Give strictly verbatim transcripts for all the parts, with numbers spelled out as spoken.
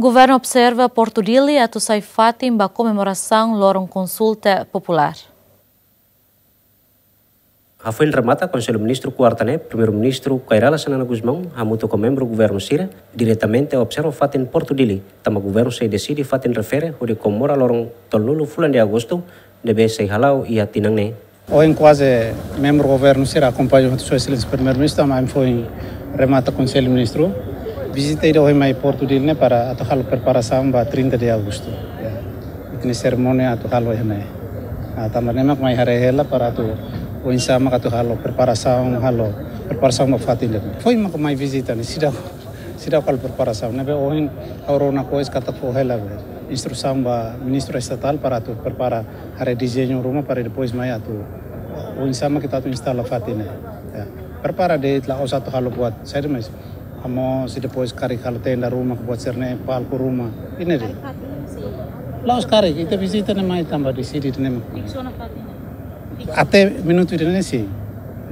Governu observa Portu Dili atu sai fatin ba komemorasaun loron konsulta populár. Hafoin remata Konsellu Ministru kuarta ne'e, Primeiru-Ministru Kay Rala Xanana Gusmão hamutuk ho membru governu sira diretamente observa fatin Portu Dili, tanba governu sei deside fatin refere hodi komemora loron tolunulu fulan de agostu, ne'ebé sei hala'o iha tinan ne'e. Ohin kuaze membru governu sira akompaña ho Sua Exelénsia Primeiru-Ministru, ami foin remata Konsellu Ministru. Vizita ida ohin mai Portu Dili ne'e para atu halo preparasaun ba trinta de agostu. Ya. Ita-nia serimónia atu halo iha ne'e. Ah, tanba ne'e mak mai haree hela para atu oinsá mak atu halo preparasaun, halo preparasaun ba fatin ida. Foin mak mai vizita ne'e, seidauk, seidauk halo preparasaun. Ne'ebé ohin ha'u rona koes katak fó hela be instrusaun ba Ministru Estatál para atu prepara haree dezeñu ruma para depois mai atu oinsá mak ita atu instala fatin ne'e. Ya. Prepara de'it, la'ós atu halo buat saida mais. Hamoos i depois karik halo tenda ruma, buat sira-ne'e, palku ruma. Ida-ne'e de'it. La'ós karik, ita vizita ne'e mai tanba deside ne'e mak. Até minutu ida-ne'e sei.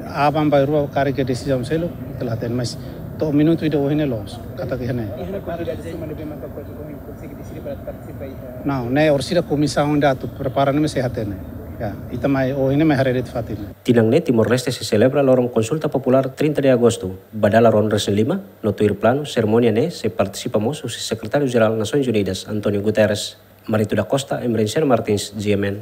Aban-bainrua karik iha desizaun seluk, ita la hatene, mas to'o minutu ida ohin ne'e loos. Katak iha ne'e. Não, ne'e orsida komisaun ida atu prepara ne'e mak sei hatene. Ya, ita mai ohin ne'e mai haree de'it fatin. Tinan ne'e Timor-Leste sei selebra loron konsulta populár trinta de agostu, ba dala ruanulu-resin-lima, no tuir planu, serimónia ne'e sei partisipa mós husi Sekretáriu-Jerál Nasoins Unidas, António Guterres. Marito da Costa, Emerenciano Martins, G M N.